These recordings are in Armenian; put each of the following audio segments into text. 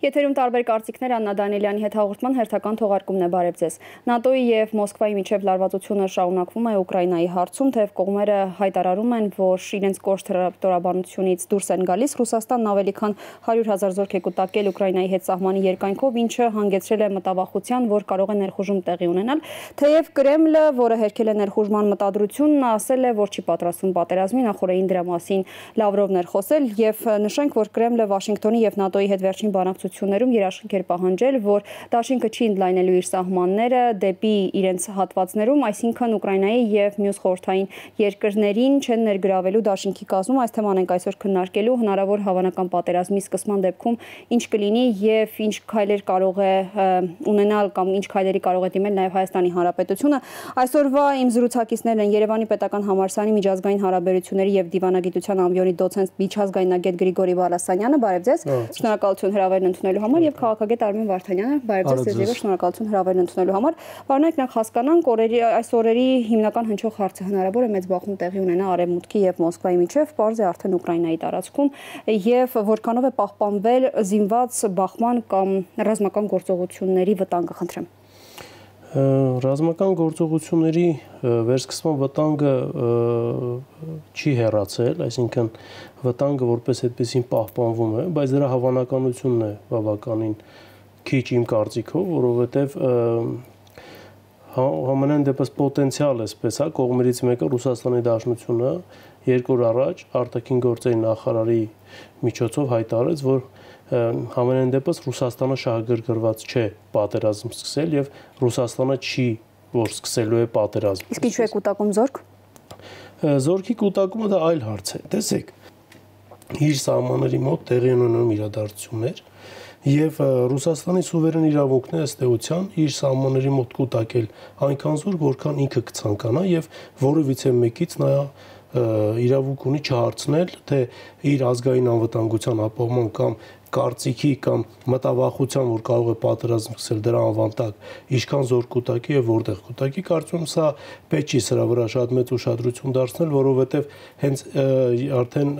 Եթերում տարբեր կարծիքներ Աննա Դանիելյանի հետ հաղորդման հերթական թողարկումն է, բարև ձեզ։ ՆԱՏՕ-ի եւ Մոսկվայի միջև լարվածությունը շարունակվում է Ուկրաինայի հարցում, թեև կողմերը հայտարարում են, որ իրենց կոշտ հրապարակությունից դուրս են գալիս։ Ռուսաստանն ավելի քան 100,000 զորք է կուտակել Ուկրաինայի հետ սահմանի երկայնքով, ինչը հանգեցրել է մտավախության, որ կարող է ներխուժում տեղի ունենալ։ Թեև Կրեմլը, որը հերքել է ներխուժման մտադրությունն, ասել է, որ չի պատրաստվում պատերազմի, նախորդին դրա մասին Լավրովն էր խոսել, եւ նշենք, որ Կրեմլը Վաշինգտոնի եւ ՆԱՏՕ-ի հետ վերջին բանակցություններում երաշխիք էր պահանջել, որ դաշինքը չի ընդլայնելու իր սահմանները դեպի իրենց հատվածներում, այսինքն Ուկրաինայի եւ մյուս խորհրդային երկրներին չեն ներգրավելու դաշինքի կազմում։ Այս թեման ենք այսօր քննարկելու, հնարավոր հավանական պատերազմի սկսման դեպքում ինչ կլինի եւ ինչ քայլեր կարող է ունենալ կամ ինչ քայլերի կարող է դիմել նաեւ Հայաստանի Հանրապետությունը։ Այսօրվա իմ զրուցակիցներն են Երևանի պետական համալսարանի միջազգային հարաբերությունների եւ դիվանագիտության ամբիոնի դոցենտ միջազգայնագետ Գրիգորի Բալասանյանը, բարև ձեզ։ Շնորհակալություն հրավերն ընդունելու համար եւ քաղաքագետ Արմեն Վարդանյանը, բարև ձեզ եւ շնորհակալություն հրավերն ընդունելու համար։ Պարոնայք, նախ հասկանանք այս օրերի հիմնական հնչող հարցը հնարավոր է մեծ բախում տեղի ունենա Արևմուտքի եւ Մոսկվայի միջև, պարզ է արդեն Ուկրաինայի տարածքում եւ որքանով է պահպանվել զինված բախման կամ ռազմական գործողությունների վտանգը, խնդրեմ։ Ռազմական գործողությունների վերսկսման վտանգը չի հեռացել, այսինքն վտանգը որպես այդպեսին պահպանվում է, բայց դրա հավանականությունն է բավականին քիչ իմ կարծիքով, որովհետև համենայն դեպս պոտենցիալ էսպես է, կողմերից մեկը Ռուսաստանի Դաշնությունը 2 օր առաջ արտաքին գործերի նախարարի միջոցով հայտարարեց, որ համենայն դեպս Ռուսաստանը շահագրգռված չէ պատերազմ սկսել եւ Ռուսաստանը չի, որ սկսելու է պատերազմ։ Իսկ ինչու է կուտակում զորք։ Զորքի կուտակումը դա այլ հարց է։ Տեսեք, իր սահմանների մոտ տեղի ունենում իրադարձություններ եւ Ռուսաստանի սուվերեն իրավունքն է ըստ էության իր սահմանների մոտ կուտակել այնքան զորք, որքան ինքը կցանկանա եւ որևիցե մեկից նա իրավունք ունի չհարցնել, թե իր ազգային անվտանգության ապահովման կամ կարծիքի կամ մտավախության, որ կարող է պատերազմ սկսել դրա անվանտակ, ինչքան զոր կուտակի եւ որտեղ կուտակի, կարծում եմ սա պետք չի սրա վրա շատ մեծ ուշադրություն դարձնել, որովհետեւ հենց արդեն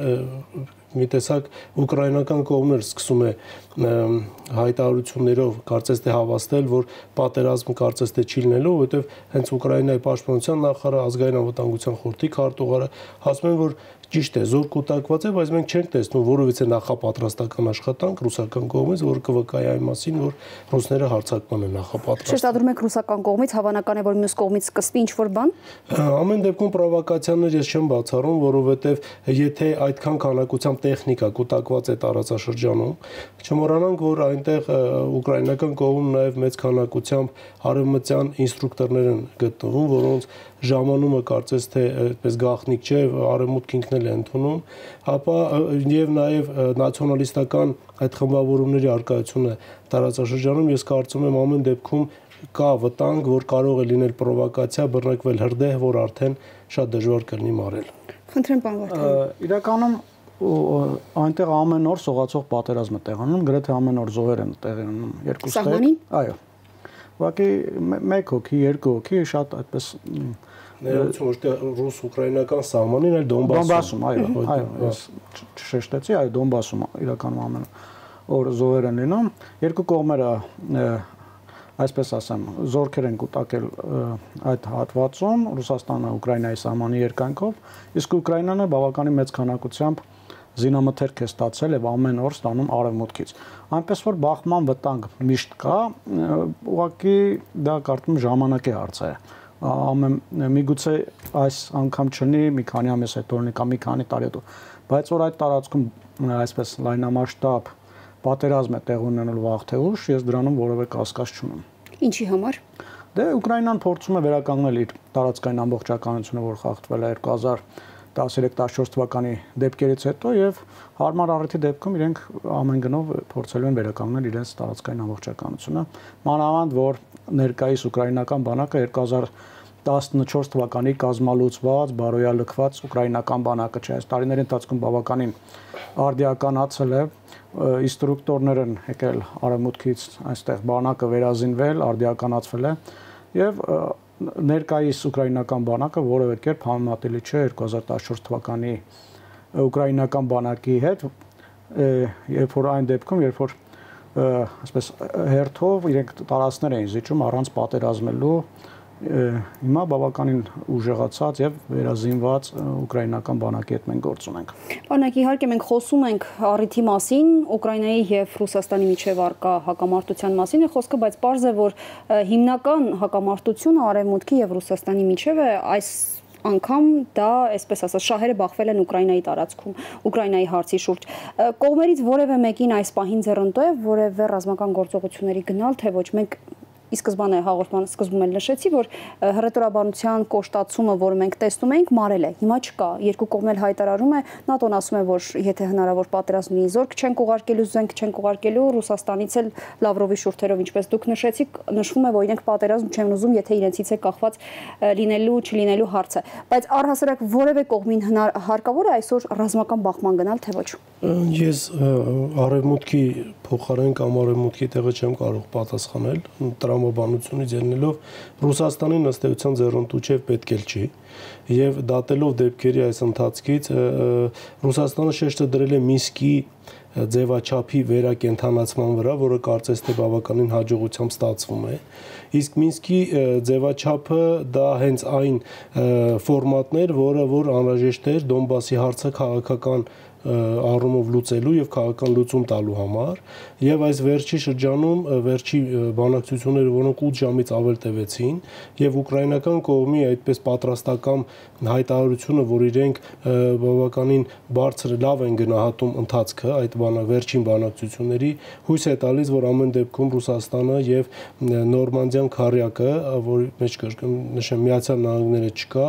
մի տեսակ ուկրաինական կողմն սկսում է հայտարարություններով կարծես թե հավաստել, որ պատերազմը կարծես թե չի լինելու, որովհետև հենց Ուկրաինայի պաշտպանության նախարարը, ազգային անվտանգության խորհրդի քարտուղարը ասում են, որ ճիշտ է, զոր կուտակված է, բայց մենք չենք տեսնում որևիցե նախապատրաստական աշխատանք ռուսական կողմից, որը կվկայի այն մասին, որ ռուսները հարձակման են նախապատրաստում։ Շեշտադրում եք ռուսական կողմից, հավանական է, որ մյուս կողմից սկսվի ինչ-որ բան։ Ամեն դեպքում պրովոկացիաներ ես չեմ բացառում, որովհետև եթե այդքան քանակությամբ տեխնիկա կուտակված է տարածաշրջանում, չմոռանանք, որ այնտեղ ուկրաինական կողմում նաև մեծ քանակությամբ արևմտյան ինստրուկտորներ են գտնվում, որոնց ժամանումը կարծես թե այդպես գաղտնիք չէ, արևմուտքն ինքն էլ է ընդունում, ապա եւ նաեւ նացիոնալիստական այդ խմբավորումների արկայությունը տարածաշրջանում ես կարծում եմ ամեն դեպքում կա վտանգ, որ կարող է լինել պրովոկացիա, բռնկվել հրդեհ, որ արդեն շատ դժվար կլինի մարել։ Խնդրեմ, պարոն Վարդանյան։ Իրականում այնտեղ ամեն օր սողացող պատերազմ է տեղի ունենում, գրեթե ամեն օր զոհեր են տեղի ունենում երկու ստեղ։ Այո։ Ուղղակի 1 հոգի, 2 հոգի շատ այդպես ներողություն, որ ռուս-ուկրաինական սահմանին, այլ Դոնբասում, այո, ես չշեշտեցի, այո, Դոնբասում իրականում ամեն օր զոհեր են լինում, երկու կողմերը այսպես ասեմ, զորքեր են կուտակել այդ հատվածում, Ռուսաստանը Ուկրաինայի սահմանի երկայնքով, իսկ Ուկրաինան բավականին մեծ քանակությամբ զինամթերք է ստացել եւ ամեն օր ստանում արևմուտքից։ Այնպես որ բախման վտանգ միշտ կա, ուղղակի դա կարծում եմ ժամանակի հարց է։ Միգուցե այս անգամ չլինի, մի քանի ամիս հետո լինի կամ մի քանի տարի հետո, բայց որ այդ տարածքում այսպես լայնամասշտաբ պատերազմ է տեղ ունենալու վաղ թե ուշ, ես դրանում որևէ կասկած չունեմ։ Ինչի համար։ Դե Ուկրաինան փորձում է վերականգնել իր տարածքային ամբողջականությունը, որ խախտվել է 2013-14 թվականի դեպքերից հետո եւ հարմար առիթի դեպքում իրենք ամեն գնով փորձելու են վերականգնել իրենց տարածքային ամբողջականությունը, մանավանդ որ ներկայիս ուկրաինական բանակը 2014 թվականի կազմալուծված, բարոյալքված ուկրաինական բանակը չէ, այս տարիների ընթացքում բավականին արդիականացել է, ինստրուկտորներ են եկել արևմուտքից, այստեղ բանակը վերազինվել, արդիականացվել է եւ ներկայիս ուկրաինական բանակը որևէ կերպ համեմատելի չէ 2014 թվականի ուկրաինական բանակի հետ, երբ որ այն դեպքում, երբ որ այսպես հերթով իրենք տարածքներ էին զիջում առանց պատերազմելու հիմա բավականին ուժեղացած եւ վերազինված ուկրաինական բանակի հետ մենք գործ ունենք։ Բանակ իհարկե մենք խոսում ենք առիթի մասին, Ուկրաինայի եւ Ռուսաստանի միջև առկա հակամարտության մասին է խոսքը, բայց պարզ է, որ հիմնական հակամարտությունը Արևմուտքի եւ Ռուսաստանի միջև է այս անգամ դա, այսպես ասած, շահերը բախվել են Ուկրաինայի տարածքում, Ուկրաինայի հարցի շուրջ։ Կողմերից որևէ մեկին այս պահին ձեռնտո է որևէ ռազմական գործողությունների գնալ, թե ոչ մենք ի սկզբանե հաղորդման սկզբում էլ նշեցի, որ հռետորաբանության կոշտացումը, որը մենք տեսնում էինք, մարել է։ Հիմա չկա։ Երկու կողմն էլ հայտարարում է, ՆԱՏՕ-ն ասում է, որ եթե հնարավոր պատերազմ լինի, զորք չենք ուղարկելու, զենք չենք ուղարկելու, Ռուսաստանից էլ Լավրովի շուրթերով, ինչպես դուք նշեցիք, նշվում է, որ իրենք պատերազմ չեն ուզում, եթե իրենցից է կախված լինելու, չլինելու հարցը։ Բայց առհասարակ որևէ կողմին հարկավոր է այսօր ռազմական բախման գնալ, թե ոչ։ Ես Արևմուտքի փոխարեն կամ Արևմուտքի տեղը չեմ կարող պատասխանել, տրամաբանությունից ելնելով Ռուսաստանին ըստ էության ձեռնտու չէ, պետք էլ չի, եւ դատելով դեպքերի այս ընթացքից Ռուսաստանը շեշտը դրել է Մինսկի ձևաչափի վերակենդանացման վրա, որը կարծես թե բավականին հաջողությամբ ստացվում է։ Իսկ Մինսկի ձևաչափը դա հենց այն ֆորմատն էր, որ անհրաժեշտ էր Դոնբասի հարցը քաղաքական առումով լուծելու եւ քաղաքական լուծում տալու համար եւ այս վերջի շրջանում վերջի բանակցությունները, որոնք 8 ժամից ավել տևեցին եւ ուկրաինական կողմի այդպես պատրաստական հայտարարությունը, որ իրենք բավականին բարձր լավ են գնահատում ընթացքը այդ վերջին բանակցությունների, հույս է տալիս, որ ամեն դեպքում Ռուսաստանը եւ Նորմանդիան քարյակը, որի մեջ նշեմ Միացյալ Նահանգները չկա,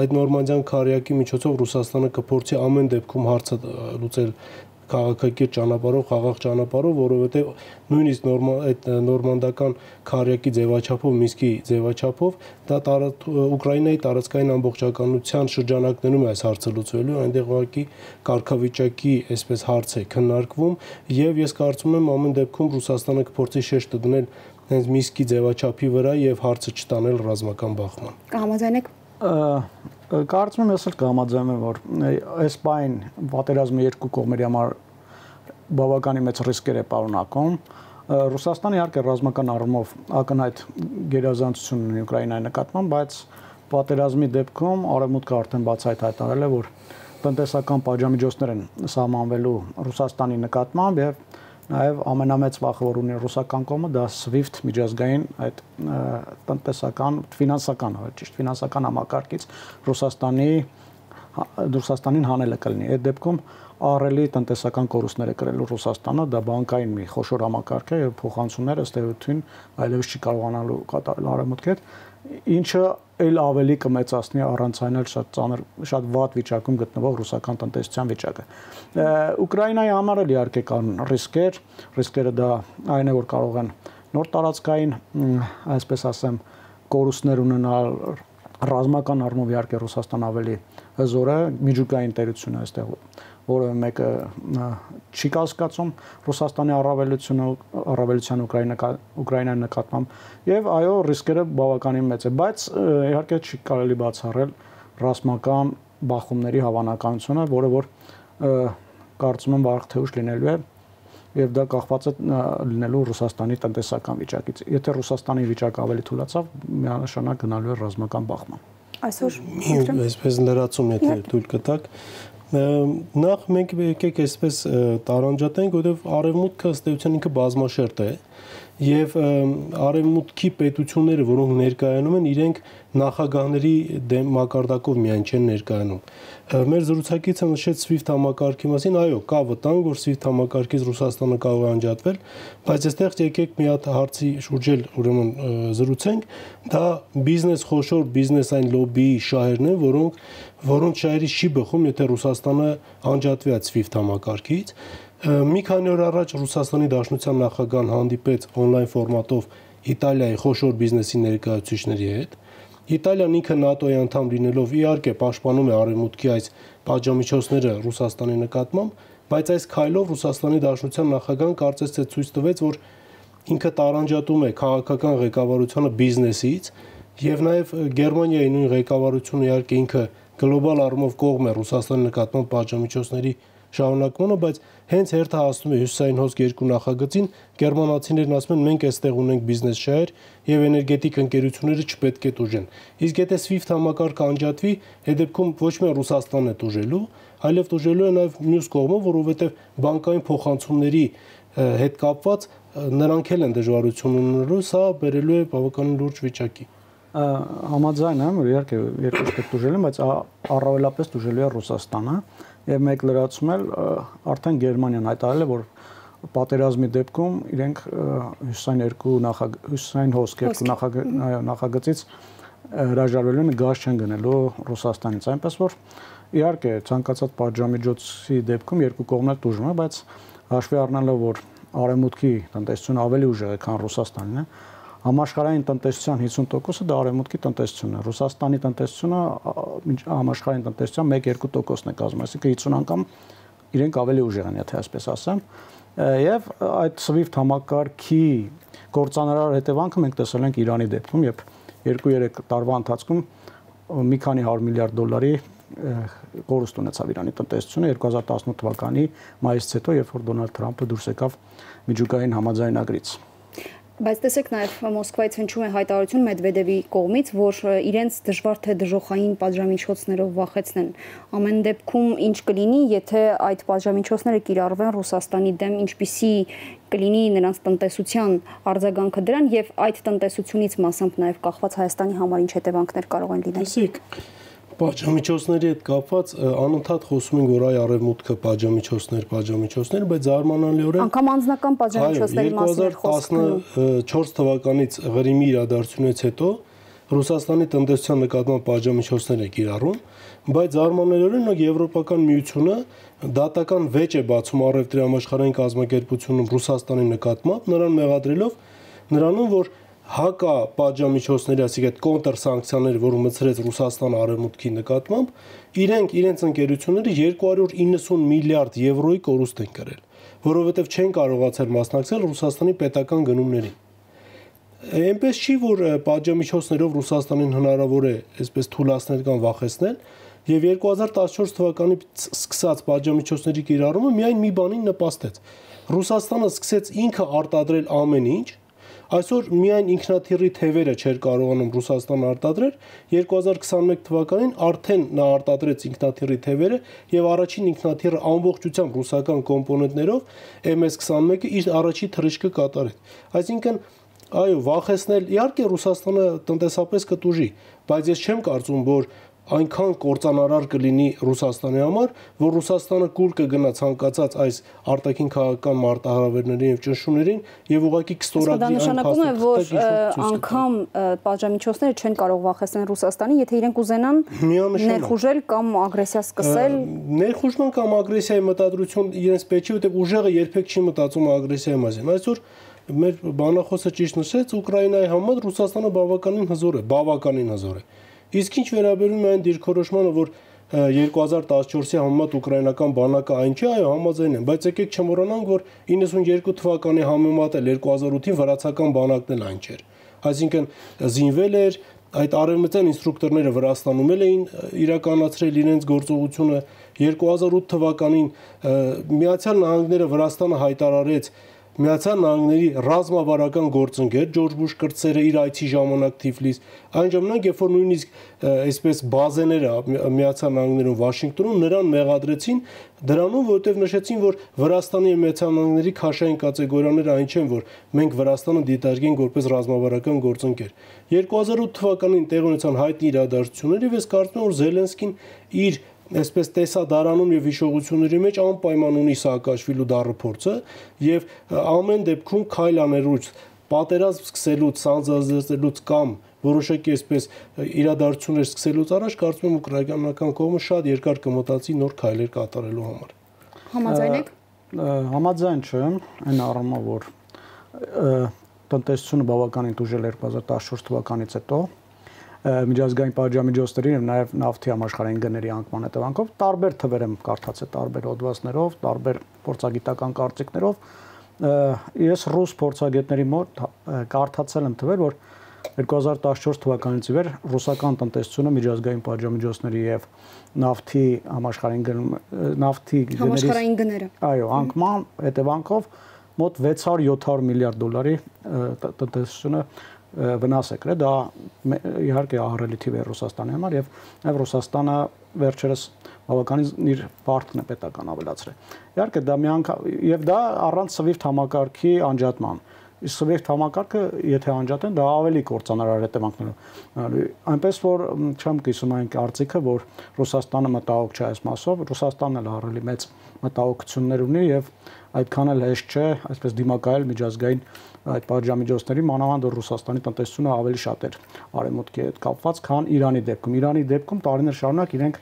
այդ Նորմանդիան քարյակի միջոցով Ռուսաստանը կփորձի ամեն դեպքում հարց լուծել քաղաքակիրթ ճանապարհով, խաղաղ ճանապարհով, որովհետև նույնիսկ այդ նորմանդական քարյակի ձևաչափով, Մինսկի ձևաչափով դա Ուկրաինայի տարածքային ամբողջականության շրջանակներում է այս հարցը լուծվելու, այնտեղ ուղղակի կարգավիճակի այսպես հարց է քննարկվում եւ ես կարծում եմ ամեն դեպքում Ռուսաստանը կփորձի շեշտը դնել հենց Մինսկի ձևաչափի վրա եւ հարցը չտանել ռազմական բախման։ Կհամաձայնեք։ Կարծում եմ ես էլ կհամաձայնեմ, որ այս բան պատերազմը երկու կողմերի համար բավականին մեծ ռիսկեր է պարունակում։ Ռուսաստանը իհարկե ռազմական առումով ակնհայտ գերազանցություն ունի Ուկրաինայի նկատմամբ, բայց պատերազմի դեպքում Արևմուտքը արդեն բացահայտ հայտարարել է, որ տնտեսական պատժամիջոցներ են սահմանվելու Ռուսաստանի նկատմամբ եւ նաև ամենամեծ վախը, որ ունի ռուսական կողմը, դա SWIFT միջազգային այդ ֆինանսական համակարգից Ռուսաստանին հանելը կլինի։ Այդ դեպքում ահռելի տնտեսական կորուստներ է կրելու Ռուսաստանը, դա բանկային մի խոշոր համակարգ է եւ փոխանցումները ըստ էության այլևս չի կարողանալու կատարել Արևմուտքի հետ, ինչը այլ ավելի կմեծացնի առանցայնել շատ վատ վիճակում գտնվող ռուսական տնտեսության վիճակը։ Ուկրաինայի համար էլ իհարկե կան ռիսկերը դա այն է, որ կարող են նոր տարածքային, այսպես ասեմ, կորուստներ ունենալ ռազմական առումով իհարկե Ռուսաստան ավելի հզոր է, միջուկային տերությունը այստեղ որևէ մեկը չի կասկածում Ռուսաստանի առավելության Ուկրաինայի նկատմամբ եւ այո ռիսկերը բավականին մեծ է, բայց իհարկե չի կարելի բացառել ռազմական բախումների հավանականությունը, որը որ կարծում եմ վաղ թե ուշ լինելու է եւ դա կախված է լինելու Ռուսաստանի տնտեսական վիճակից։ Եթե Ռուսաստանի վիճակը ավելի թուլացավ, միանշանակ գնալու է ռազմական բախման։ Այսօր այսպես լրացում եթե թույլ կտաք նախ մենք եկեք այսպես տարանջատենք, որովհետև Արևմուտքը ըստ էության ինքը բազմաշերտ է եւ Արևմուտքի պետությունները, որոնք ներկայանում են, իրենք նախագահների մակարդակով միայն չեն ներկայանում։ Մեր զրուցակիցը նշեց SWIFT համակարգի մասին, այո, կա վտանգ, որ SWIFT համակարգից Ռուսաստանը կարող է անջատվել, բայց այստեղ եկեք մի հատ հարցի շուրջ էլ ուրեմն զրուցենք, դա խոշոր բիզնեսային լոբբիի շահերն են, որոնց շահերից չի բխում, եթե Ռուսաստանը անջատվի այդ SWIFT համակարգից։ Մի քանի օր առաջ Ռուսաստանի Դաշնության նախագահան հանդիպեց on-line ֆորմատով Իտալիայի խոշոր բիզնեսի ներկայացուցիչների հետ։ Իտալիան ինքը ՆԱՏՕ-ի անդամ լինելով իհարկե պաշտպանում է Արևմուտքի այս պատժամիջոցները Ռուսաստանի նկատմամբ, բայց այս քայլով Ռուսաստանի Դաշնության նախագահան կարծես թե ցույց տվեց, որ ինքը տարանջատում է քաղաքական ղեկավարությունը բիզնեսից եւ նաեւ Գերմանիայի նույն ղեկավարությունը իհարկե ինքը գլոբալ առումով կողմ է Ռուսաստանի նկատմամբ պատժամիջոցների շարունակմանը, բայց հենց հերթը հասնում է հյուսիսային հոսք 2 նախագծին, գերմանացիներն ասում են մենք այստեղ ունենք բիզնես շահեր եւ էներգետիկ ընկերությունները չպետք է տուժեն։ Իսկ եթե SWIFT համակարգը անջատվի, այդ դեպքում ոչ միայն Ռուսաստանն է տուժելու, այլև տուժելու է նաեւ մյուս կողմը, որովհետեւ բանկային փոխանցումների հետ կապված նրանք էլ են դժվարություն ունենալու, սա բերելու է բավականին լուրջ վիճակի։ Համաձայն եմ, որ իհարկե երկու պետք տուժել են, բայց առավելապես տուժելու է Ռուսաստանը եւ մեկ լրացում էլ արդեն Գերմանիան հայտարարել է, որ պատերազմի դեպքում իրենք հյուսիսային հոսք 2 նախագծից հրաժարվելու են, գազ չեն գնելու Ռուսաստանից, այնպես որ իհարկե ցանկացած պատժամիջոցի դեպքում երկու կողմն էլ տուժում է, բայց հաշվի առնելով, որ արևմուտքի տնտեսությունը ավելի ուժեղ է, քան Ռուսաստանն է, համաշխարհային տնտեսության 50%-ը դա արևմուտքի տնտեսությունն է։ Ռուսաստանի տնտեսությունը համաշխարհային տնտեսության 1-2%-ն է կազմում, այսինքն 50 անգամ իրենք ավելի ուժեղ են, եթե այսպես ասեմ։ Եվ այդ SWIFT համակարգի կործանարար հետևանքը մենք տեսել ենք Իրանի դեպքում, երբ 2-3 տարվա ընթացքում մի քանի 100 միլիարդ դոլարի կորուստ ունեցավ Իրանի տնտեսությունը 2018 թվականի մայիսից հետո, երբ որ Դոնալդ Թրամփը դուրս եկավ միջուկային համաձայնագրից։ Բայց տեսեք նաև Մոսկվայից հնչում է հայտարարություն Մեդվեդևի կողմից, որ իրենց դժվար թե դժոխային պատժամիջոցներով վախեցնեն։ Ամեն դեպքում ինչ կլինի, եթե այդ պատժամիջոցները կիրառվեն Ռուսաստանի դեմ, ինչպիսի կլինի նրանց տնտեսության արձագանքը դրան եւ այդ տնտեսությունից մասամբ նաև կախված Հայաստանի համար ինչ հետևանքներ կարող են լինել։ Պատժամիջոցների հետ կապված անընդհատ խոսում են, որ այ արևմուտքը պատժամիջոցներ, բայց զարմանալիորեն անգամ անձնական պատժամիջոցների մասին խոսքը 2014 թվականից Ղրիմի իրադարձությունից հետո Ռուսաստանի տնտեսության նկատմամբ պատժամիջոցներ է կիրառում, բայց զարմանալիորեն Եվրոպական միությունը դատական վեճ է բացում առևտրի համաշխարհային կազմակերպությունում Ռուսաստանի նկատմամբ, նրան մեղադրելով նրանում, որ հակա պատժամիջոցների, այսինքն այդ կոնտր սանկցիաները, որ մտցրեց Ռուսաստանը արևմուտքի նկատմամբ, իրենց ընկերությունները 290 միլիարդ եվրոյի կորուստ են կրել, որովհետև չեն կարողացել մասնակցել Ռուսաստանի պետական գնումներին։ Այնպես չի, որ պատժամիջոցներով Ռուսաստանին հնարավոր է այսպես թուլացնել կամ վախեցնել, եւ 2014 թվականից սկսած պատժամիջոցների կիրառումը միայն մի բանին նպաստեց։ Ռուսաստանը սկսեց ինքը արտադրել ամեն ինչ։ Այսօր միայն ինքնաթիռի թևերը չէր կարողանում Ռուսաստանը արտադրել, 2021 թվականին արդեն նա արտադրեց ինքնաթիռի թևերը եւ առաջին ինքնաթիռը ամբողջությամբ ռուսական կոմպոնենտներով MS-21-ը իր առաջի թռիչքը կատարեց։ Այսինքն այո, վախեցնել իհարկե Ռուսաստանը տնտեսապես կտուժի, բայց ես չեմ կարծում, որ այնքան կործանարար կլինի Ռուսաստանի համար, որ Ռուսաստանը կուլ կգնա ցանկացած այս արտաքին քաղաքական մարտահրավերներին եւ ճնշումներին եւ ուղղակի կստորագրի այն նշանակում է, որ անգամ պատժամիջոցները չեն կարող վախեցնել Ռուսաստանի, եթե իրենք ուզենան ներխուժել կամ ագրեսիա սկսել։ Ներխուժման կամ ագրեսիայի մտադրություն իրենց պետք է, որտեղ ուժեղը երբեք չի մտածում ագրեսիայի մասին։ Այսօր մեր բանախոսը ճիշտ նշեց, Ուկրաինայի համար Ռուսաստանը բավականին հզոր է։ Իսկ ինչ վերաբերում է այն դիրքորոշմանը, որ 2014-ի համեմատ ուկրաինական բանակը այն չէ, այո, համաձայն եմ, բայց եկեք չմոռանանք, որ 92 թվականի համեմատ էլ 2008-ին վրացական բանակն էլ այն չէր։ Այսինքն զինվել էր, այդ արևմտյան ինստրուկտորները Վրաստանում էին իրականացրել իրենց գործողությունը 2008 թվականին Միացյալ Նահանգները Վրաստանը հայտարարեց Միացյալ Նահանգների ռազմավարական գործընկեր Ջորջ Բուշ կրտսերը իր այցի ժամանակ Թիֆլիս, այն ժամանակ, երբ որ նույնիսկ այսպես բազեները Միացյալ Նահանգներում Վաշինգտոնում նրան մեղադրեցին դրանում, որովհետև նշեցին, որ Վրաստանի եւ Միացյալ Նահանգների քաշային կատեգորիաները այն չեն, որ մենք Վրաստանը դիտարկենք որպես ռազմավարական գործընկեր։ 2008 թվականին տեղ ունեցան հայտնի իրադարձություններ եւ ես կարծում եմ, որ Զելենսկին իր այսպես տեսադարանում եւ հիշողությունների մեջ անպայման ունի Սաակաշվիլու դառը փորձը եւ ամեն դեպքում քայլ անելուց, պատերազմ սկսելուց, սանձազերծելուց կամ որոշակի այսպես իրադարձություններ սկսելուց առաջ կարծում եմ ուկրաինական կողմը շատ երկար կմտածի նոր քայլեր կատարելու համար։ Համաձայն եք։ Համաձայն չեմ, այն առումով որ տնտեսությունը բավականին տուժել 2014 թվականից հետո միջազգային պատժամիջոցների եւ նաեւ նավթի համաշխարհային գների անկման հետևանքով տարբեր թվեր եմ կարդացել, տարբեր հոդվածներով, տարբեր փորձագիտական կարծիքներով։ Ես ռուս փորձագետների մոտ կարդացել եմ թվեր, որ 2014 թվականից ի վեր ռուսական տնտեսությունը միջազգային պատժամիջոցների եւ նավթի համաշխարհային գները այո, անկման հետևանքով մոտ 600-700 միլիարդ դոլարի տնտեսությունը վնաս է կրել, դա իհարկե ահռելի թիվ է Ռուսաստանի համար եւ նաեւ Ռուսաստանը վերջերս բավականին իր բարդն է պետական ավելացրել։ Իհարկե դա մի անգամ եւ դա առանց SWIFT համակարգի անջատման։ Իսկ SWIFT համակարգը եթե անջատեն, դա ավելի կործանարար հետևանքներով։ Այնպես որ չեմ կիսում այն կարծիքը, որ Ռուսաստանը մտահոգ չէ այս մասով, Ռուսաստանն էլ ահռելի մեծ մտահոգություններ ունի եւ այդքան էլ հեշտ չէ, այսպես դիմակայել միջազգային այդ պատժամիջոցների, մանավանդ որ Ռուսաստանի տնտեսությունը ավելի շատ էր արևմուտքի հետ կապված, քան Իրանի դեպքում։ Իրանի դեպքում տարիներ շարունակ իրենք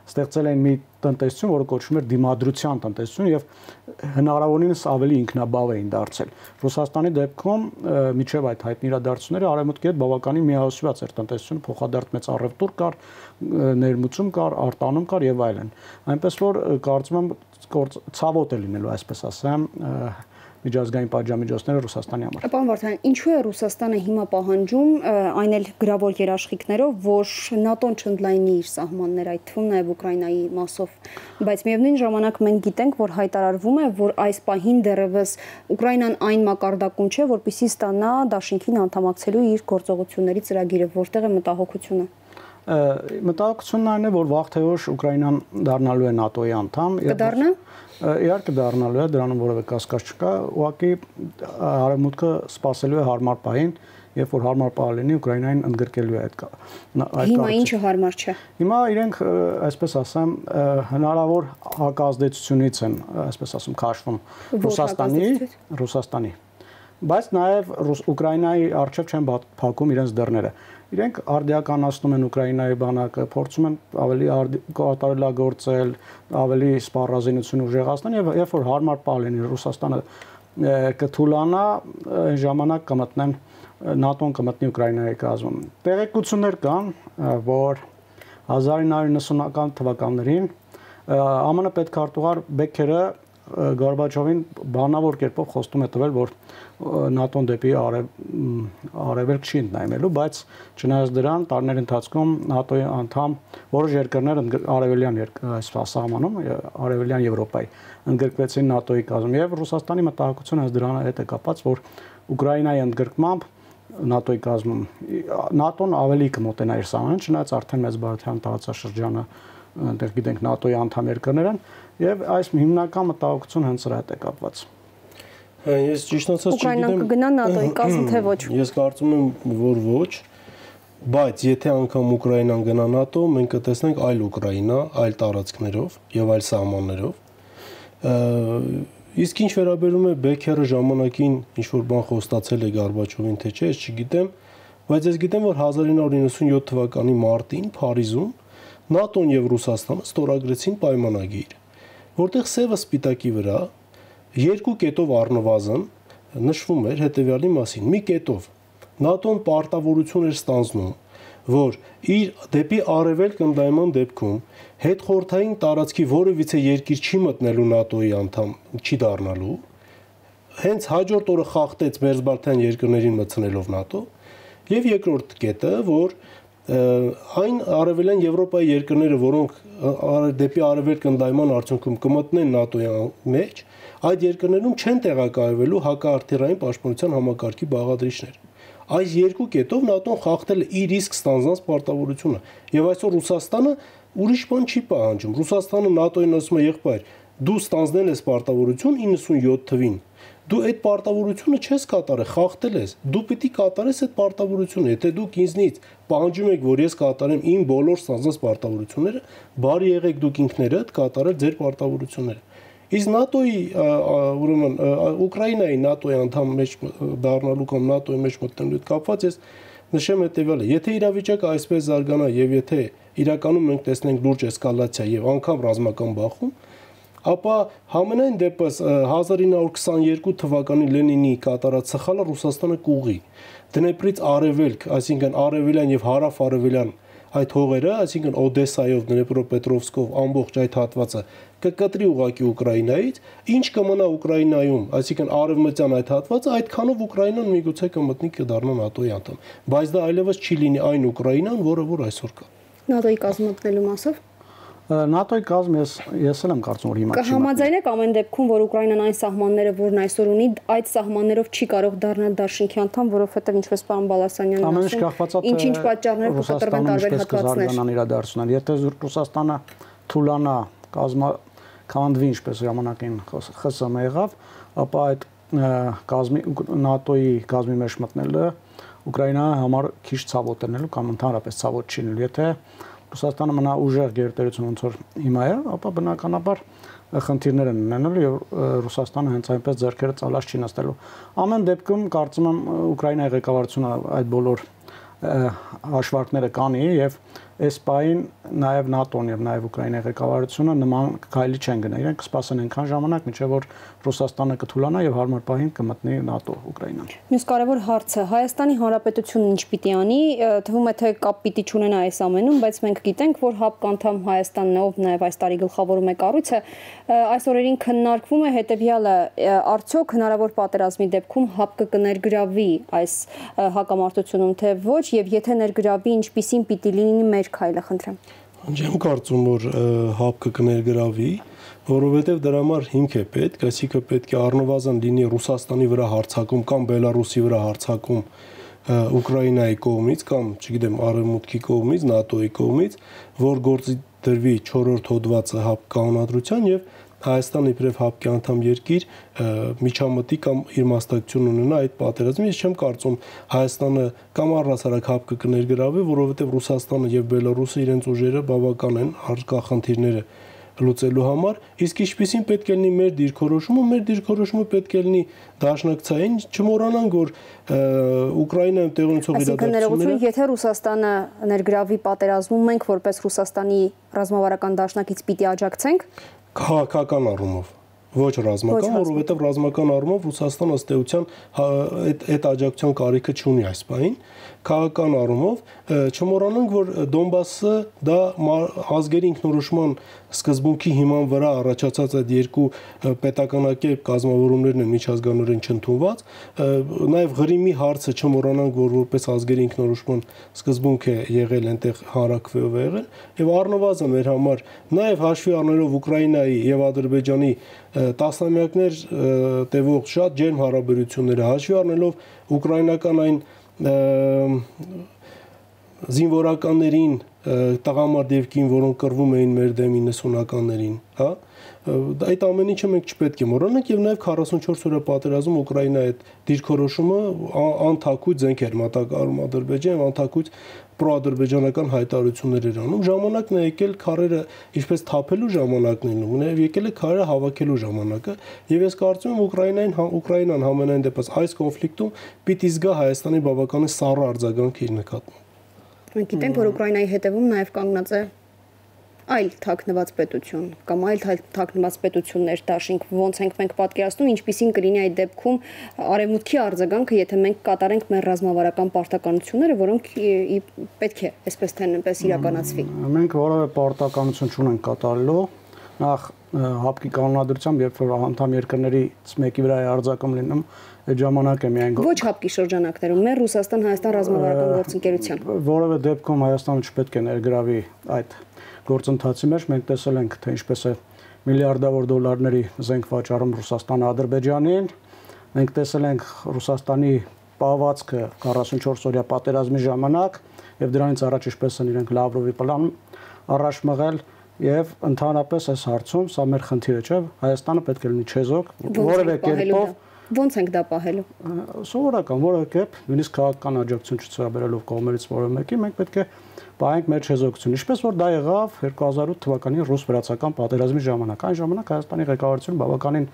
ստեղծել են մի տնտեսություն, որը կոչվում էր դիմադրության տնտեսություն եւ հնարավորինս ավելի ինքնաբավ էին դարձել։ Ռուսաստանի դեպքում միջև այդ հայտնի իրադարձությունները արևմուտքի հետ բավականին միահոսված էր տնտեսությունը, փոխադարձ մեծ առևտուր կար, ներմուծում կար, արտանում կար եւ այլն։ Այնպես որ կարծում եմ ցավոտ է լինելու, այսպես ասեմ, միջազգային պատժամիջոցները Ռուսաստանի համար։ Պարոն Վարդանյան, ինչու է Ռուսաստանը հիմա պահանջում այն էլ գրավոր երաշխիքներով, որ ՆԱՏՕ-ն չընդլայնի իր սահմանները, այդ թվում նաև Ուկրաինայի մասով, բայց միևնույն ժամանակ մենք գիտենք, որ հայտարարվում է, որ այս պահին դեռևս Ուկրաինան այն մակարդակում չէ, որպեսզի ստանա դաշինքին անդամակցելու իր գործողությունների ծրագիրը, որտեղ է մտահոգությունը։ Մտահոգությունն այն է, որ վաղ թե ուշ Ուկրաինան դառնալու է ՆԱՏՕ-ի անդամ։ Կդառնա։ Իհարկե դառնալու է, դրանում որևէ կասկած չկա, ուղղակի արևմուտքը սպասելու է հարմար պահին, երբ որ հարմար պահ լինի Ուկրաինային ընդգրկելու է այդ Հիմա ինչը հարմար չէ։ Հիմա իրենք, այսպես ասեմ, հնարավոր հակազդեցությունից են, այսպես ասեմ, քաշվում Ռուսաստանի, բայց նաև Ուկրաինայի առջև չեն փակում իրենց դռները։ Իրենք արդիականացնում են Ուկրաինայի բանակը, փորձում են ավելի կատարելագործել, ավելի սպառազինություն ուժեղացնել եւ երբ որ հարմար պահ լինի Ռուսաստանը կթուլանա, այն ժամանակ կմտնեն ՆԱՏՕ-ն կմտնի Ուկրաինայի կազմում։ Տեղեկություններ կան, որ 1990-ական թվականներին ԱՄՆ պետքարտուղար Բեքերը Գորբաչովին բանավոր կերպով խոստում է տվել, որ ՆԱՏՕ-ն դեպի արևելք չի ընդլայնելու, բայց չնայած դրան տարիների ընթացքում ՆԱՏՕ-ի անդամ որոշ երկրներ արևելյան սահմանում, արևելյան Եվրոպայի ընդգրկվեցին ՆԱՏՕ-ի կազմում եւ Ռուսաստանի մտահոգությունը հենց դրան հետ է կապված, որ Ուկրաինայի ընդգրկմամբ ՆԱՏՕ-ի կազմում ՆԱՏՕ-ն ավելի կմոտենա իր սահմանին, չնայած արդեն մեծ բարդության տարածաշրջանը այնտեղ գիտենք ՆԱՏՕ-ի անդամ երկրներ են եւ այս հիմնական մտահոգությունը հենց դրա հետ է կապված։ Ես ճիշտ ասած չգիտեմ։ Ուկրաինան կգնա ՆԱՏՕ-ի կազմ թե ոչ։ Ես կարծում եմ, որ ոչ, բայց եթե անգամ Ուկրաինան գնա ՆԱՏՕ, մենք կտեսնենք այլ Ուկրաինա, այլ տարածքներով եւ այլ սահմաններով։ Իսկ ինչ վերաբերում է Բեքերը ժամանակին ինչ որ բան խոստացել է Գորբաչովին, թե չէ, ես չգիտեմ, բայց ես գիտեմ, որ 1997 թվականի մարտին Փարիզում ՆԱՏՕ-ն եւ Ռուսաստանը ստորագրեցին պայմանագիր, որտեղ սևը սպիտակի վրա երկու կետով առնվազն նշվում էր հետեւյալի մասին. մի կետով ՆԱՏՕ-ն պարտավորություն էր ստանձնում, որ իր դեպի արևելք ընդայնման դեպքում հետխորհրդային տարածքի որևիցե երկիր չի մտնելու ՆԱՏՕ-ի անդամ, չի դառնալու, հենց հաջորդ օրը խախտեց մերձբալթյան երկրներին մտցնելով ՆԱՏՕ, եւ երկրորդ կետը, որ այն արևելյան Եվրոպայի երկրները, որոնք դեպի արևելք ընդայնման արդյունքում կմտնեն ՆԱՏՕ-ի մեջ, այդ երկրներում չեն տեղակայվելու հակաարթիռային պաշտպանության համակարգի բաղադրիչներ։ Այս երկու կետով ՆԱՏՕ-ն խախտել է իր իսկ ստանձնած պարտավորությունը, եւ այսօր Ռուսաստանը ուրիշ բան չի պահանջում։ Ռուսաստանը ՆԱՏՕ-ին ասում է, եղբայր, դու ստանձնել ես պարտավորություն 97 թվին, դու այդ պարտավորությունը չես կատարել, խախտել ես, դու պիտի կատարես այդ պարտավորությունը, եթե դուք ինձնից պահանջում եք, որ ես կատարեմ իմ բոլոր ստանձնած պարտավորությունները, բարի եղեք դուք ինքներդ կատարել ձեր պարտավորությունները։ Իսկ ՆԱՏՕ-ի, ուրեմն Ուկրաինայի ՆԱՏՕ-ի անդամ մեջ դառնալու կամ ՆԱՏՕ-ի մեջ մտնելու հետ կապված ես նշեմ հետեւյալը. եթե իրավիճակը այսպես զարգանա եւ եթե իրականում մենք տեսնենք լուրջ էսկալացիա եւ անգամ ռազմական բախում, ապա համենայն դեպս 1922 թվականի Լենինի կատարած սխալը Ռուսաստանը կուղի։ Դնեպրից արևելք, այսինքն արևելյան եւ հարավ-արևելյան այդ հողերը, այսինքն Օդեսայով, Դնեպրոպետրովսկով ամբողջ այդ հատվածը կկտրի ուղղակի Ուկրաինայից, ինչ կմնա Ուկրաինայում, այսինքն արևմտյան այդ հատվածը, այդքանով Ուկրաինան միգուցե կմտնի կդառնա ՆԱՏՕ-ի անդամ, բայց դա այլևս չի լինի այն Ուկրաինան, որ այսօր կա։ ՆԱՏՕ-ի կազմակերպելու մասով ՆԱՏՕ-ի կազմ ես էլ եմ կարծում, որ հիմա չի։ Կհամաձայնեք ամեն դեպքում, որ Ուկրաինան այն սահմանները, որն այսօր ունի, այդ սահմաններով չի կարող դառնալ դաշինքի անդամ, որովհետև ինչպես պարոն Բալասանյանն ասում, ինչ-ինչ պատճառներ կկտրվեն տարբեր հատվածներ։ Եթե Ռուսաստանը թուլանա, քանդվի, ինչպես ժամանակին ԽՍՀՄ եղավ, ապա այդ ՆԱՏՕ-ի կազմի մեջ մտնելը Ուկրաինայի համար քիչ ցավոտ է լինելու կամ ընդհանրապես ցավոտ չի լինելու։ Եթե Ռուսաստանը մնա ուժեղ գերտերություն ոնց որ հիմա է, ապա բնականաբար խնդիրներ են ունենալու եւ Ռուսաստանը հենց այնպես ձեռքերը ծալած չի նստելու։ Ամեն դեպքում կարծում եմ Ուկրաինայի ղեկավարությունը այդ բոլոր հաշվարկները կանի եւ այս պահին նաեւ ՆԱՏՕ-ն եւ նաեւ Ուկրաինայի ղեկավարությունը նման քայլի չեն գնա։ Իրենք կսպասեն այնքան ժամանակ, մինչեւ որ Ռուսաստանը կթուլանա եւ հարմար պահին կմտնի ՆԱՏՕ Ուկրաինան։ Մյուս կարևոր հարցը Հայաստանի Հանրապետությունն ինչ պիտի անի, թվում է թե կապ պիտի չունենա այս ամենում, բայց մենք գիտենք, որ ՀԱՊԿ անդամ Հայաստանն ով նաեւ այս տարի գլխավորում է կառույցը, այս օրերին քննարկվում է հետեւյալը, արդյոք հնարավոր պատերազմի դեպքում ՀԱՊԿ կներգրավի այս հակամարտությունում, թե ոչ, եւ եթե ներգրավի, ինչպիսին պիտի լինի մեր քայլը, խնդրեմ։ Չեմ կարծում, որ ՀԱՊԿ կներգրավի, որովհետև դրա համար հիմք է պետք, այսինքն պետք է առնվազն լինի Ռուսաստանի վրա հարձակում կամ Բելարուսի վրա հարձակում Ուկրաինայի կողմից կամ, չգիտեմ, Արևմուտքի կողմից, ՆԱՏՕ-ի կողմից, որ գործի դրվի 4-րդ հոդվածը ՀԱՊԿ կանոնադրության եւ Հայաստանը իբրև ՀԱՊԿ անդամ երկիր միջամտի կամ իր մասնակցություն ունենա այդ պատերազմին։ Ես չեմ կարծում Հայաստանը կամ առհասարակ ՀԱՊԿ կներգրավի, որովհետև Ռուսաստանը եւ Բելարուսը իրենց ուժերը բավական են առկա խնդիրները լուծելու համար, իսկ ինչպիսին պետք է լինի մեր դիրքորոշումը պետք է լինի դաշնակցային, չմոռանանք, որ Ուկրաինայում տեղի ունեցող իրադարձությունները, եթե Ռուսաստանը ներգրավի պատերազմում, մենք որպես Ռուսաստանի ռազմավարական դաշնակից պիտի աջակցենք քաղաքական առումով, ոչ ռազմական, որովհետև ռազմական առումով Ռուսաստանը ըստ էության այդ աջակցության կարիքը չունի այս պահին, քաղաքական առումով չմոռանանք, որ Դոնբասը դա ազգերի ինքնորոշման սկզբունքի հիման վրա առաջացած այդ երկու պետականակերպ կազմավորումներն են միջազգանորեն չընդունված, նաև Ղրիմի հարցը չմոռանանք, որ որպես ազգերի ինքնորոշման սկզբունք է եղել այնտեղ հանրաքվեով է եղել, եւ առնվազն մեր համար նաև հաշվի առնելով Ուկրաինայի եւ Ադրբեջանի տասնամյակներ տևող շատ ջերմ հարաբերությունները, հաշվի առնելով ուկրաինական այն զինվորականներին տղամարդ եւ կին, որոնք կռվում էին մեր դեմ 90-ականներին, հա, այդ ամեն ինչը մենք չպետք է մոռանանք եւ նաեւ 44 օրյա պատերազմում Ուկրաինայի այդ դիրքորոշումը անթակույց զենք էր մատակարարում Ադրբեջանը, անթակույց պրոադրբեջանական հայտարարություններ էր անում, ժամանակն է եկել քարերը ինչպես թափելու ժամանակն է, եկել է քարերը հավաքելու ժամանակը, եւ ես կարծում եմ Ուկրաինան համենայն դեպս այս կոնֆլիկտում պիտի զգա Հայաստանի բավականին սառը արձագանք իր նկատմամբ։ Մենք գիտենք, որ Ուկրաինայի հետևում նաեւ կանգնած է այլ թաքնված պետություն կամ այլ թաքնված պետություններ դաշինք, ոնց ենք մենք պատկերացնում, ինչպիսին կլինի այդ դեպքում արևմուտքի արձագանքը, եթե մենք կատարենք մեր ռազմավարական պարտականությունները, որոնք պետք է այսպես թե այնպես իրականացվի։ Մենք որևէ պարտականություն չունենք կատարելու, նախ ՀԱՊԿ-ի կանոնադրությամբ, երբ որ անդամ երկրներից մեկի վրա է արձակում լինում, այդ ժամանակ է միայն ոչ ՀԱՊԿ-ի շրջանակներում, մեր Ռուսաստան-Հայաստան ռազմավարական գործընկերության որևէ դեպքում Հայաստանը չպետք է ներգրավի այդ գործընթացի մեջ, մենք տեսել ենք, թե ինչպես է միլիարդավոր դոլարների զենք վաճառում Ռուսաստանը Ադրբեջանին, մենք տեսել ենք Ռուսաստանի պահվածքը 44 օրյա պատերազմի ժամանակ եւ դրանից առաջ ինչպես են իրենք Լավրովի պլան առաջ մղել եւ ընդհանրապես այս հարցում սա մեր խնդիրը չէ, Հայաստանը պետք է լինի չեզոք, որևէ կերպով ոնց ենք դա պահելու։ Սովորական, որևէ կերպ, նույնիսկ քաղաքական աջակցություն չցուցաբերելով կողմերից որևէ մեկի, մենք պետք է պահենք մեր չեզոքությունը, ինչպես որ դա եղավ 2008 թվականի ռուս-վրացական պատերազմի ժամանակ։ Այն ժամանակ Հայաստանի ղեկավարությունը բավականին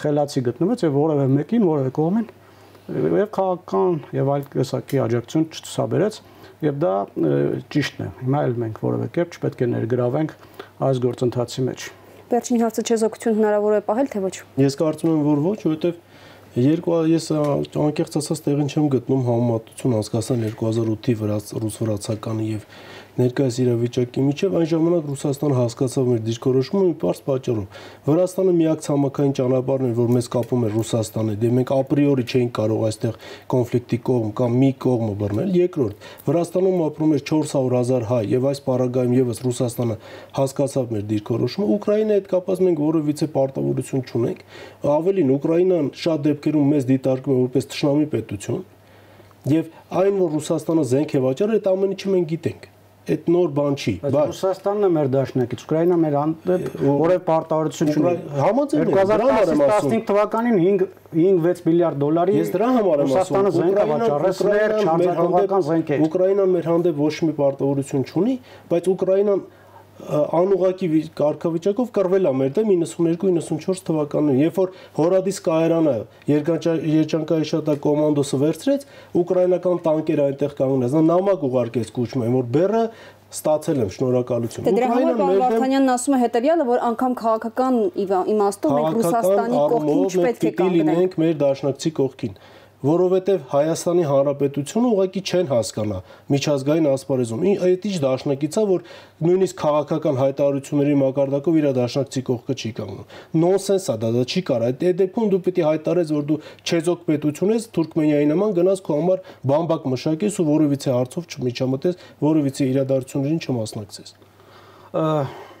խելացի գտնվեց եւ որևէ մեկին, որևէ կողմին եւ քաղաքական եւ այլ տեսակի աջակցություն չցուցաբերեց եւ դա ճիշտն է։ Հիմա էլ մենք որևէ կերպ չպետք է ներգրավենք այս գործընթացի մեջ։ Վերջին հարցը չեզոքություն հնարավոր է պահել թե ոչ։ Ես կարծում եմ, որ ոչ, որովհետեւ Ես անկեղծ ասած տեղին չեմ գտնում համեմատություն անցկացան 2008-ի ռուս-վրացականի եւ ներկայիս իրավիճակի միջև այն ժամանակ Ռուսաստանը հասկացավ մեր դիրքորոշումը մի պարզ պատճառով։ Վրաստանը միակ ցամաքային ճանապարհն էր, որ մեզ կապում էր Ռուսաստանի, դե մենք ապրիորի չէինք կարող այստեղ կոնֆլիկտի կողմ կամ մի կողմը բռնել։ Երկրորդ, Վրաստանում ապրում էր 400,000 հայ եւ այս պարագայում եւս Ռուսաստանը հասկացավ մեր դիրքորոշումը։ Ուկրաինայի հետ կապված մենք որևիցե պարտավորություն չունենք։ Ավելին, Ուկրաինան շատ դեպքերում մեզ դիտարկում է որպես թշնամի պետություն եւ այն, որ Ռուսաստանը զենք է վաճառել, այդ ամեն ինչը մենք գիտենք։ Այդ նոր բան չի, բայց Ռուսաստանն է մեր դաշնակից, Ուկրաինան մեր որևէ պարտավորություն չունի։ Համաձայն եմ, 2015 թվականին 5-6 միլիարդ դոլարի ես դրա համար եմ ասում, Ռուսաստանը զենք է վաճառել, չարձակողական զենք է։ Ուկրաինան մեր հանդեպ ոչ մի պարտավորություն չունի, բայց Ուկրաինան անուղակի կարգավիճակով կռվել է մեր դեմ 92-94 թվականներին, երբ որ Հորադիս կայարանը երջանկայի շտա կոմանդոսը վերցրեց, ուկրաինական տանկերը այնտեղ կանգնած, նամակ ուղարկեց կուչմեն, որ բեռը ստացել եմ, շնորհակալություն։ Դրա համար պարոն Վարդանյանն ասում է հետևյալը, որ անգամ քաղաքական իմաստով մենք Ռուսաստանի կողքին չպետք է կանգնենք, մեր դաշնակցի կողքին, որովհետև Հայաստանի Հանրապետությունը ուղղակի չեն հասկանա միջազգային ասպարեզում։ Այդ ինչ դաշնակից է, որ նույնիսկ քաղաքական հայտարարությունների մակարդակով իր դաշնակցի կողքը չի կանգնում։ Նոնսենս է դա չի կարող։ Այդ դեպքում դու պիտի հայտարարես, որ դու չեզոք պետություն ես, Թուրքմենիայի նման գնաս քո համար բամբակ մշակես ու որևիցե հարցով չմիջամտես, որևիցե իրադարձություններին չմասնակցես։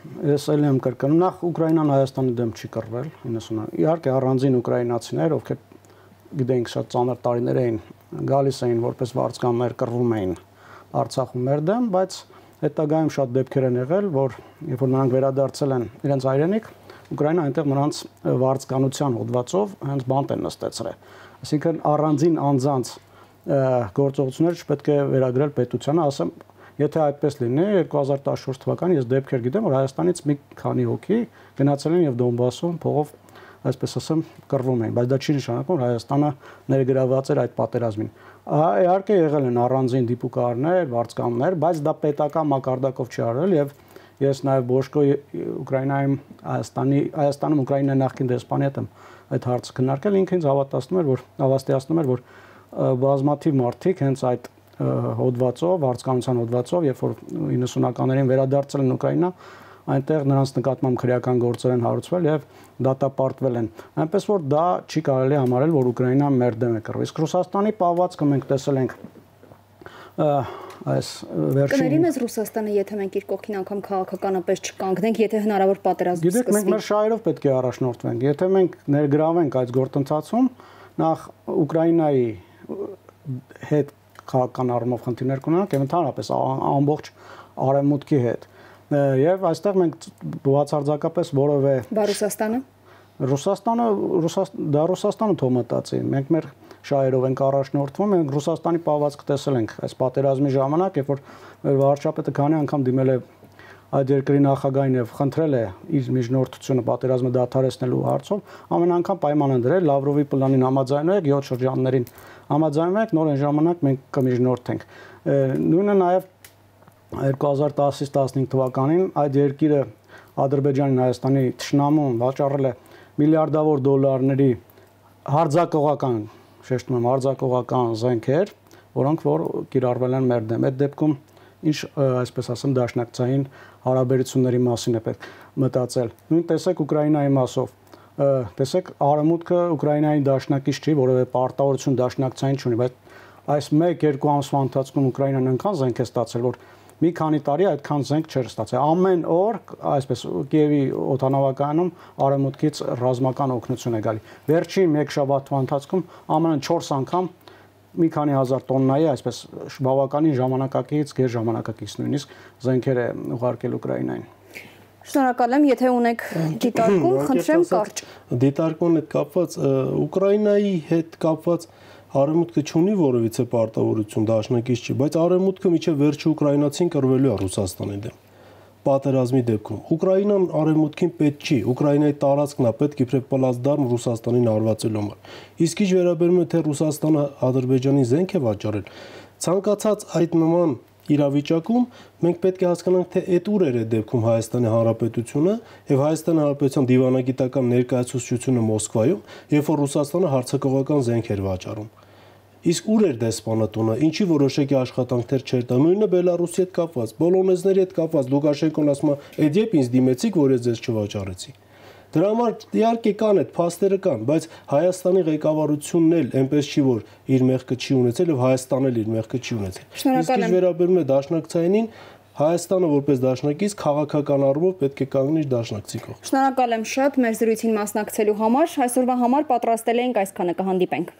Ես ելի եմ կրկնում, նախ Ուկրաինան Հայաստանի դեմ չի կռվել 90-ը։ Իհարկե առանձին ուկրաինացիներ, ովքեր գիտենք շատ ծանր տարիներ էին գալիս էին որպես վարձկաններ կռվում էին Արցախում մեր դեմ, բայց հետագայում շատ դեպքեր են եղել, որ երբ որ նրանք վերադարձել են իրենց հայրենիք, Ուկրաինան այնտեղ նրանց վարձկանության հոդվածով հենց բանտ են նստեցրել։ Այսինքն առանձին անձանց գործողություններ չպետք է վերագրել պետությանը, ասեմ, եթե այդպես լինի 2014 թվականին ես դեպքեր գիտեմ, որ Հայաստանից մի քանի հոգի գնացել են եւ Դոնբասում փողով այսպես ասեմ կռվում էին, բայց դա չի նշանակում, որ Հայաստանը ներգրաված էր այդ պատերազմին։ Իհարկե եղել են առանձին դիպուկարներ, վարձկաններ, բայց դա պետական մակարդակով չի արվել եւ ես նաեւ Բոշկո Ուկրաինայում Հայաստանում Ուկրաինայի նախկին դեսպանի հետ եմ այդ հարցը քննարկել, ինքը ինձ հավաստիացնում էր, որ բազմաթիվ մարդիկ հենց այդ հոդվածով, վարձկանության հոդվածով, երբ որ 90-ականներին վերադարձել են Ուկրաինա, այնտեղ նրանց նկատմամբ քրեական գործեր են հարուցվել եւ դատապարտվել են։ Այնպես որ դա չի կարելի համարել, որ Ուկրաինան մեր դեմ է կռվել։ Իսկ Ռուսաստանի պահվածքը մենք տեսել ենք այս վերջին։ Կների մեզ Ռուսաստանը, եթե մենք իր կողքին անգամ քաղաքականապես չկանգնենք, եթե հնարավոր պատերազմ սկսվի։ Գիտեք, մենք մեր շահերով պետք է առաջնորդվենք։ Եթե մենք ներգրավենք այդ գործընթացում, նախ Ուկրաինայի հետ քաղաքական առումով խնդիրներ կունենանք եւ ընդհանրապես ամբողջ արևմուտքի հետ։ Եվ այստեղ մենք բացարձակապես որևէ Ռուսաստանը թոմատացի, մենք մեր շահերով ենք առաջնորդվում, մենք Ռուսաստանի պահվածքը տեսել ենք այս պատերազմի ժամանակ, երբ որ մեր վարչապետը քանի անգամ դիմել է այդ երկրի նախագահին եւ խնդրել է իր միջնորդությունը պատերազմը դադարեցնելու հարցով, ամեն անգամ պայման են դրել Լավրովի պլանին համաձայնվեք, 7 շրջաններին համաձայնվեք, նոր այն ժամանակ մենք կմիջնորդենք։ Նույնը նաեւ 2010-15 թվականին այդ երկիրը Ադրբեջանին Հայաստանի թշնամուն վաճառել է միլիարդավոր դոլարների հարձակողական, շեշտում եմ, հարձակողական զենքեր, որոնք որ կիրառվել են մեր դեմ։ Այդ դեպքում ինչ, այսպես ասեմ, դաշնակցային հարաբերությունների մասին է պետք մտածել։ Նույն տեսեք Ուկրաինայի մասով։ Տեսեք, Արևմուտքը Ուկրաինայի դաշնակից չի, որովհետեւ պարտավորություն դաշնակցային չունի, բայց այս 1-2 ամսվա ընթացքում Ուկրաինան այնքան զենք է ստացել, որ մի քանի տարի այդքան զենք չէր ստացել։ Ամեն օր, այսպես Կիևի օդանավակայանում Արևմուտքից ռազմական օգնություն է գալի։ Վերջին 1 շաբաթվա ընթացքում ԱՄՆ-ը 4 անգամ մի քանի հազար տոննայի, այսպես բավականին ժամանակակից, գերժամանակակից նույնիսկ զենքեր է ուղարկել Ուկրաինային։ Շնորհակալ եմ, եթե ունեք դիտարկում, խնդրեմ կարճ։ Դիտարկման հետ կապված Ուկրաինայի հետ կապված Արևմուտքը չունի որևիցե պարտավորություն դաշնակից չի, բայց Արևմուտքը միջև վերջի ուկրաինացին կռվելու է Ռուսաստանի դեմ։ Պատերազմի դեպքում Ուկրաինան Արևմուտքին պետք չի, Ուկրաինայի տարածքն է պետք իբրև պլացդարմ Ռուսաստանին հարվածելու համար։ Իսկ ինչ վերաբերում է թե Ռուսաստանը Ադրբեջանի զենք է վաճառել, ցանկացած այդ նման իրավիճակում մենք պետք է հասկանանք, թե այդ ուր էր այդ դեպքում Հայաստանի Հանրապետությունը եւ Հայաստանի Հանրապետության դիվանագիտական ներկայացուցչությունը Մոսկվայում, երբ որ Ռուսաստանը հարձակողական զենք էր վաճառում։ Իսկ ուր էր դեսպանատունը, ինչի որոշակի աշխատանքներ չէր տա, նույնը Բելարուսի հետ կապված, բոլոնեզների հետ կապված, Լուկաշենկոն ասում է, «Էդ երբ ինձ դիմեցիք, որ ես ձեզ չվաճառեցի»։ Դրա համար իհարկե կան այդ փաստերը կան, բայց Հայաստանի ղեկավարությունն էլ այնպես չի, որ իր մեղքը չի ունեցել եւ Հայաստանն էլ իր մեղքը չի ունեցել։ Իսկ ինչ վերաբերում է դաշնակցայինին, Հայաստանը որպես դաշնակից քաղաքական առումով պետք է կանգնի իր դաշնակցի կողմ։ Շնորհակալ եմ շատ մեր զրույցին մասնակցելու համար։ Այսօրվա համար պատրաստել էինք այսքանը, կհանդիպենք։